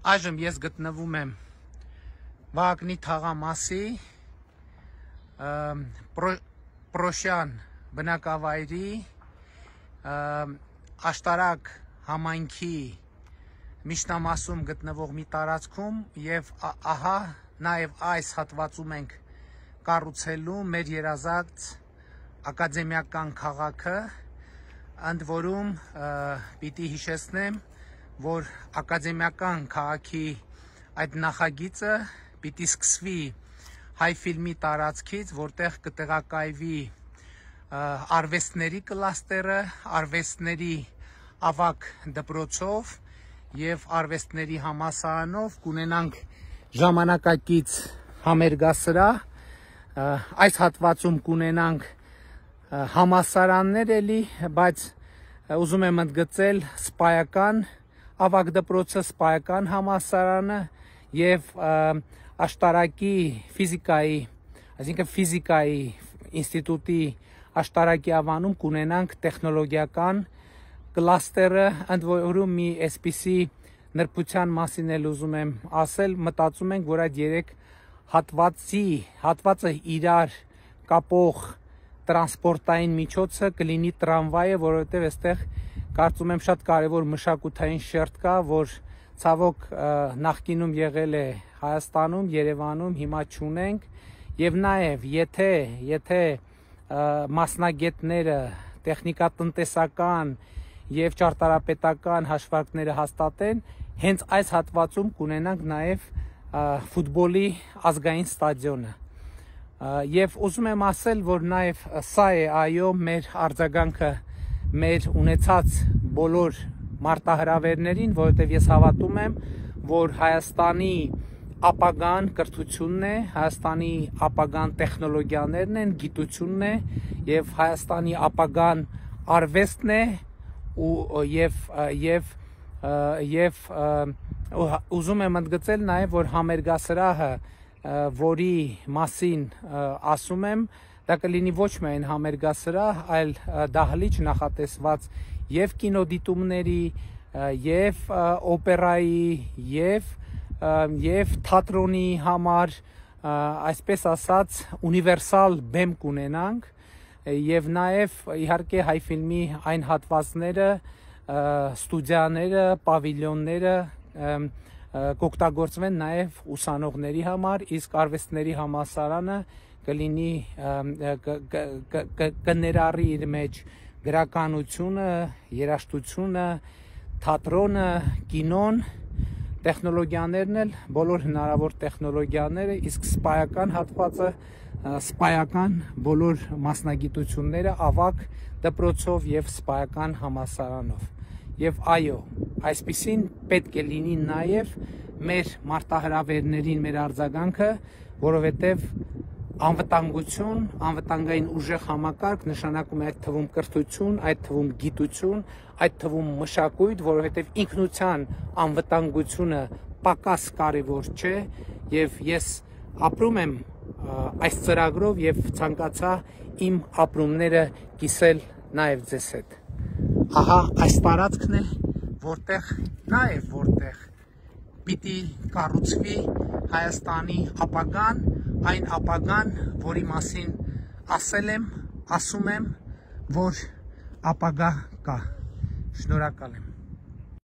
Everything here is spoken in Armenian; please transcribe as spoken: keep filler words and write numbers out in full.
Այժմ ես գտնվում եմ Վահագնի թաղամասի Պրոշյան բնակավայրի աշտարակ համայնքի միջնամասում գտնվող մի տարածքում և ահա նաև այս հատվածում ենք կառուցելու մեր երազած ակադեմիական քաղաքը, ընդ որում պիտի հիշեցնեմ, որ ակադեմիական քաղաքի այդ նախագիծը պիտի սկսվի Հայֆիլմի տարածքից, որտեղ կտեղակայվի արվեստների կլաստերը, արվեստների ավագ դպրոցով և արվեստների համալսարանով կունենանք ժամանակակից համերգասրահ, այս հատվածում կունենանք համալսարաններ էլի, բայց ուզում եմ ընդգծել սպայական ավագ դպրոցը, սպայական համալսարանը և աշտարակի ֆիզիկայի, այսինքն ֆիզիկայի ինստիտուտի աշտարակի ավանում կունենանք տեխնոլոգիական կլաստերը, ընդ որում մի այսպիսի նրբության մասին էլ ուզում եմ ասել, մտածում ենք, որ այդ երեք հատվածի, հատվածը իրար կապող տրանսպորտային միջոցը կլինի տրամվայը, որովհետև այստեղ կարծում եմ շատ կարևոր մշակութային շերտ կա, որ ցավոք նախկինում եղել է Հայաստանում, Երևանում, հիմա չունենք, և նաև եթե, եթե մասնագետները տեխնիկատնտեսական և ճարտարապետական հաշվարկները հաստատեն, հենց այս հատվածում կունենանք նաև ֆուտբոլի ազգային ստադիոնը։ Եվ ուզում եմ ասել, որ նաև սա է այո մեր արձագանքը մեր ունեցած բոլոր մարտահրավերներին, որովհետև ես հավատում եմ, որ Հայաստանի ապագան կրթությունն է, Հայաստանի ապագան տեխնոլոգիաներն են, գիտությունն է և Հայաստանի ապագան արվեստն է և ուզում եմ ընդգծել նաև, որ համերգասրահը, որի մասին ասում եմ, դա կլինի ոչ միայն համերգասրահ, այլ դահլիճ նախատեսված և կինոդիտումների, և օպերայի, և թատրոնի համար, այսպես ասած, ունիվերսալ բեմ կունենանք և նաև իհարկե Հայֆիլմի այն հատվածները, ստուդիաները, պավիլյոնները կօգտագործվեն նաև ուսանողների համար, իսկ արվեստների համալսարանը կլինի, կներառի իր մեջ գրականությունը, երաժշտությունը, թատրոնը, կինոն, տեխնոլոգիաներն էլ, բոլոր հնարավոր տեխնոլոգիաները, իսկ սպայական հատվածը, սպայական բոլոր մասնագիտությունները ավագ դպրոցով և սպայական համալսարանով։ Եվ այո, այսպիսին պետք է լինի նաև մեր մարտահրավերներին մեր արձագանքը, որովհետև անվտանգություն, անվտանգային ուժեղ համակարգ նշանակում է այդ թվում կրթություն, այդ թվում գիտություն, այդ թվում մշակույթ, որովհետև ինքնության անվտանգությունը պակաս կարևոր չէ և ես ապրում եմ այս ծրագրով և ցանկացա իմ ապրումները կիսել նաև ձեզ հետ։ Ահա այս տարածքն է, որտեղ նաև որտեղ պիտի կառուցվի Հայաստանի ապագան, այն ապագան, որի մասին ասել եմ, ասում եմ, որ ապագա կա։ Շնորհակալ եմ։